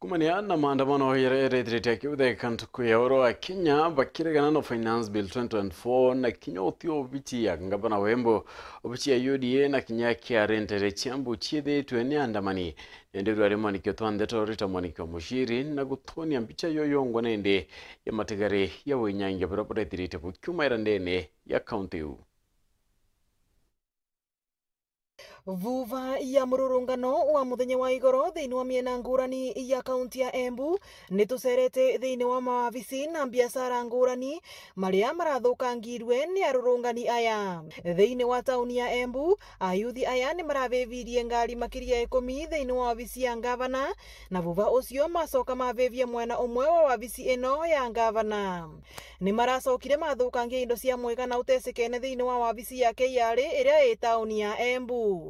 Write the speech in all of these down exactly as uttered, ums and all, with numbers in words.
Kumania na maandamano yaria yarethirite akiutheka ntuku ya oro a Kenya bakiregana na Finance Bill twenty twenty-four, na kinya uti obichi ya ngavana wa Embu, obichi ya U D A na kinya K R A ntere cia Embu ciithitwe ni andamani. Nende rwari mwanikio twa ndeto Rita Mwanikio Mushiri na gutonia mbicha yo yongwa nende ya matigari ya winyangia buria burethirite bukiumaira ndene ya kaunti iu. Vuva ya mururungano wa muthenya wa igoro thiini wa miena ngurani ya kaunti ya Embu, ni tucerete thiini wa mawabici na biashara ngurani maria marathukangirwe ni arurungani aya. Thiini wa tauni ya Embu, ayuthi aya ni maravivirie ngari makiria ikumi thiini wa wabici ya ngavana, na vuva ucio macoka mavivia mwena umwe wa wabici ino ya ngavana. Ni maracokire mathukangia indo cia mwigana utesikene thiini wa wabici ya K R A iria i tauni ya Embu.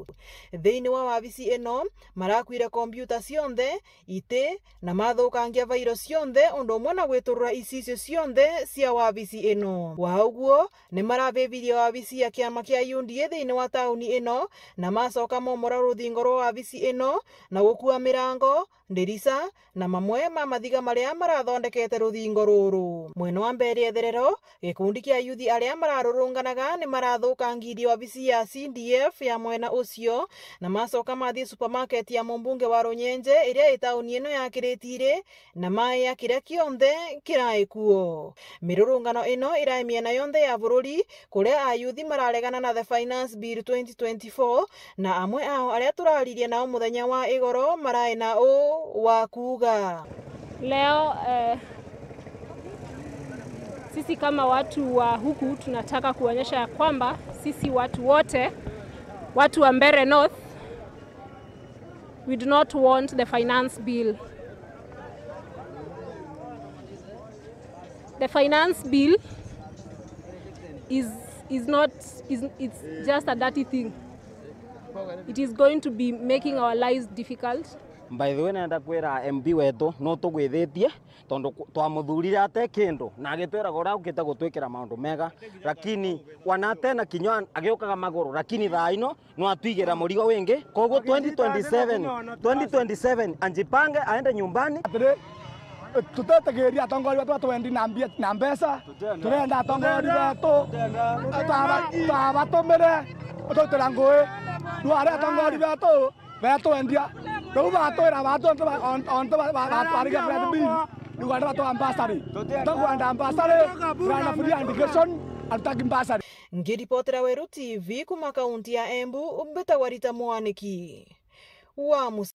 Thiini wa wabici ino, marakuire kompiuta cionthe, iti, na mathukangia vairo cionthe, undu umwe na gwiturura icicio cionthe cia wabici ino. Wa uguo, ni maravivirie wabici ya kiama kia U D A thiini wa tauni ino, na macoka momora ruthingo rwa wabici ino, na gukua mirango, ndirica, na mamwe ma mathiga maria marathondekete ruthingo ruru. Mwena wa mbere etherero, gikundi kia ayuthi aria mararurunganaga ni marathukangirie wabici ya C D F ya mwena ucio, na macoka mathii supermarket ya mumbunge wa Runyenje iria i tauni ino ya Kiritiri, na maia kiria kionthe kirai kuo. Mirurungano ino irai miena yonthe ya bururi, kuria ayuthi mararegana na the Finance Bill twenty twenty-four, na amwe ao aria turaririe nao muthenya wa igoro marai na uu wa kuuga. Leo, eh, sisi kama watu wa huku tunataka kuonyesha ya kwamba sisi watu wote, watu wa Mbeere North, we do not want the Finance Bill. The Finance Bill is, is not, is, it's just a dirty thing. It is going to be making our lives difficult. By the way, nenda kwira M P wetu no tugwithitie, tondu ku-, twamuthurire ate kindu, na agitwiraga uria ukite gutwikira maundu mega, lakini wanate na kinya agiukaga maguru, lakini thaa ino no atwigira murigo wingi. Koguo twenty twenty-seven, twenty twenty-seven, anjipange aende nyumbani. Atiri, tutetigiria atongoria betu batwendi na mbia, na mbeca. Turenda atongoria betu, taba-, tabatumire, ututira ngui. Riu aria atongoria betu betwendia, riu batwira batu ontu ba-, on-, ontu ba-, ba-, ba-, barigia bread bin, riu aria batu ambassador. Tukwenda ambassador, turenda free education, arutaki ambassador. Ngiripotera Weru T V kuma kaunti ya Embu, mbitagwa Rita Mwaniki wa Mus-